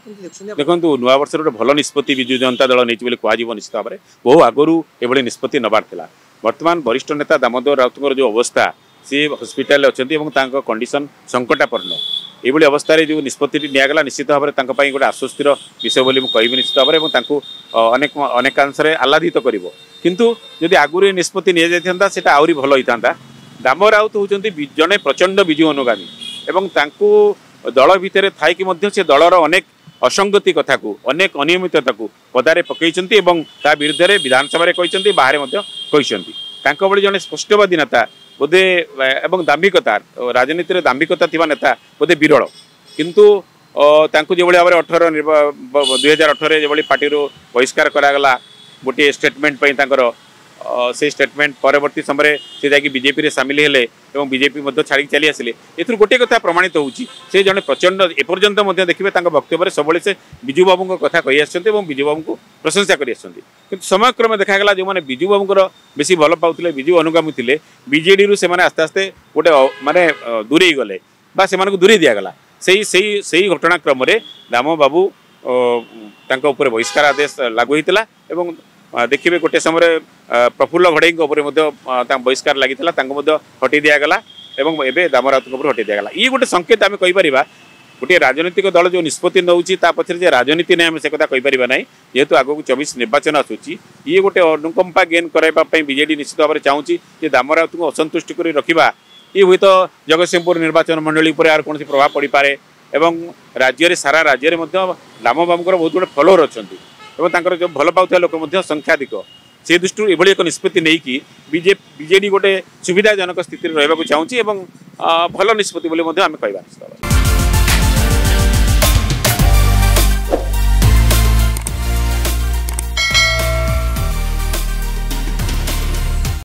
କେମିତି ଦେଖୁଛନ୍ତି ଆପଣ? ଦେଖନ୍ତୁ, ନୂଆ ବର୍ଷରେ ଗୋଟେ ଭଲ ନିଷ୍ପତ୍ତି ବିଜୁ ଜନତା ଦଳ ନେଇଛି ବୋଲି କୁହାଯିବ ନିଶ୍ଚିତ ଭାବରେ। ବହୁ ଆଗରୁ ଏଭଳି ନିଷ୍ପତ୍ତି ନେବାର ଥିଲା। ବର୍ତ୍ତମାନ ବରିଷ୍ଠ ନେତା ଦାମୋଦର ରାଉତଙ୍କର ଯେଉଁ ଅବସ୍ଥା, ସିଏ ହସ୍ପିଟାଲରେ ଅଛନ୍ତି ଏବଂ ତାଙ୍କ କଣ୍ଡିସନ ସଙ୍କଟାପନ୍ନ। ଏଇଭଳି ଅବସ୍ଥାରେ ଯେଉଁ ନିଷ୍ପତ୍ତିଟି ନିଆଗଲା, ନିଶ୍ଚିତ ଭାବରେ ତାଙ୍କ ପାଇଁ ଗୋଟେ ଆଶ୍ୱସ୍ତିର ବିଷୟ ବୋଲି ମୁଁ କହିବି ନିଶ୍ଚିତ ଭାବରେ ଏବଂ ତାଙ୍କୁ ଅନେକାଂଶରେ ଆହ୍ଲାଦିତ କରିବ। କିନ୍ତୁ ଯଦି ଆଗରୁ ଏ ନିଷ୍ପତ୍ତି ନିଆଯାଇଥାନ୍ତା, ସେଇଟା ଆହୁରି ଭଲ ହେଇଥାନ୍ତା। ଦାମ ରାଉତ ହେଉଛନ୍ତି ଜଣେ ପ୍ରଚଣ୍ଡ ବିଜୁ ଅନୁଗାମୀ ଏବଂ ତାଙ୍କୁ ଦଳ ଭିତରେ ଥାଇକି ମଧ୍ୟ ସେ ଦଳର ଅନେକ ଅସଙ୍ଗତି କଥାକୁ, ଅନେକ ଅନିୟମିତତାକୁ ପଦାରେ ପକାଇଛନ୍ତି ଏବଂ ତା ବିରୁଦ୍ଧରେ ବିଧାନସଭାରେ କହିଛନ୍ତି, ବାହାରେ ମଧ୍ୟ କହିଛନ୍ତି। ତାଙ୍କ ଭଳି ଜଣେ ସ୍ପଷ୍ଟବାଦୀ ନେତା ବୋଧେ ଏବଂ ଦାମ୍ଭିକତା, ରାଜନୀତିରେ ଦାମ୍ଭିକତା ଥିବା ନେତା ବୋଧେ ବିରଳ। କିନ୍ତୁ ତାଙ୍କୁ ଯେଭଳି ଭାବରେ 2018ରେ ଯେଭଳି ପାର୍ଟିରୁ ବହିଷ୍କାର କରାଗଲା ଗୋଟିଏ ଷ୍ଟେଟମେଣ୍ଟ ପାଇଁ ତାଙ୍କର, ସେଇ ଷ୍ଟେଟମେଣ୍ଟ ପରବର୍ତ୍ତୀ ସମୟରେ ସେ ଯାଇକି ବିଜେପିରେ ସାମିଲ ହେଲେ ଏବଂ ବିଜେପି ମଧ୍ୟ ଛାଡ଼ିକି ଚାଲି ଆସିଲେ। ଏଥିରୁ ଗୋଟିଏ କଥା ପ୍ରମାଣିତ ହେଉଛି, ସେ ଜଣେ ପ୍ରଚଣ୍ଡ, ଏପର୍ଯ୍ୟନ୍ତ ମଧ୍ୟ ଦେଖିବେ ତାଙ୍କ ବକ୍ତବ୍ୟରେ ସବୁବେଳେ ସେ ବିଜୁ ବାବୁଙ୍କ କଥା କହି ଆସିଛନ୍ତି ଏବଂ ବିଜୁ ବାବୁଙ୍କୁ ପ୍ରଶଂସା କରି ଆସିଛନ୍ତି। କିନ୍ତୁ ସମୟକ୍ରମେ ଦେଖାଗଲା, ଯେଉଁମାନେ ବିଜୁ ବାବୁଙ୍କର ବେଶୀ ଭଲ ପାଉଥିଲେ, ବିଜୁ ଅନୁଗାମୀ ଥିଲେ, ବିଜେଡ଼ିରୁ ସେମାନେ ଆସ୍ତେ ଆସ୍ତେ ଗୋଟେ ମାନେ ଦୂରେଇ ଗଲେ ବା ସେମାନଙ୍କୁ ଦୂରେଇ ଦିଆଗଲା। ସେଇ ସେଇ ସେଇ ଘଟଣାକ୍ରମରେ ଦାମ ବାବୁ ତାଙ୍କ ଉପରେ ବହିଷ୍କାର ଆଦେଶ ଲାଗୁ ହୋଇଥିଲା ଏବଂ ଦେଖିବେ ଗୋଟେ ସମୟରେ ପ୍ରଫୁଲ୍ଲ ଘଡ଼େଇଙ୍କ ଉପରେ ମଧ୍ୟ ତାଙ୍କ ବହିଷ୍କାର ଲାଗିଥିଲା, ତାଙ୍କୁ ମଧ୍ୟ ହଟେଇ ଦିଆଗଲା ଏବଂ ଏବେ ଦାମ ରାଉତଙ୍କ ଉପରେ ହଟେଇ ଦିଆଗଲା। ଇଏ ଗୋଟେ ସଂକେତ ଆମେ କହିପାରିବା। ଗୋଟିଏ ରାଜନୈତିକ ଦଳ ଯେଉଁ ନିଷ୍ପତ୍ତି ନେଉଛି, ତା ପଛରେ ଯେ ରାଜନୀତି ନାହିଁ ଆମେ ସେ କଥା କହିପାରିବା ନାହିଁ। ଯେହେତୁ ଆଗକୁ 24 ନିର୍ବାଚନ ଆସୁଛି, ଇଏ ଗୋଟେ ଅନୁକମ୍ପା ଗେନ୍ କରାଇବା ପାଇଁ ବିଜେଡି ନିଶ୍ଚିତ ଭାବରେ ଚାହୁଁଛି ଯେ ଦାମ ରାଉତଙ୍କୁ ଅସନ୍ତୁଷ୍ଟି କରି ରଖିବା। ଇଏ ହୁଏତ ଜଗତସିଂହପୁର ନିର୍ବାଚନ ମଣ୍ଡଳୀ ଉପରେ ଏହାର କୌଣସି ପ୍ରଭାବ ପଡ଼ିପାରେ ଏବଂ ରାଜ୍ୟରେ, ସାରା ରାଜ୍ୟରେ ମଧ୍ୟ ଦାମ ବାବୁଙ୍କର ବହୁତ ଗୁଡ଼େ ଫଲୋଅର ଅଛନ୍ତି ଏବଂ ତାଙ୍କର ଯେଉଁ ଭଲ ପାଉଥିବା ଲୋକ ମଧ୍ୟ ସଂଖ୍ୟାଧିକ। ସେ ଦୃଷ୍ଟିରୁ ଏଭଳି ଏକ ନିଷ୍ପତ୍ତି ନେଇକି ବିଜେଡି ଗୋଟେ ସୁବିଧାଜନକ ସ୍ଥିତିରେ ରହିବାକୁ ଚାହୁଁଛି ଏବଂ ଭଲ ନିଷ୍ପତ୍ତି ବୋଲି ମଧ୍ୟ ଆମେ କହିବା ନିଶ୍ଚିତ ଭାବରେ।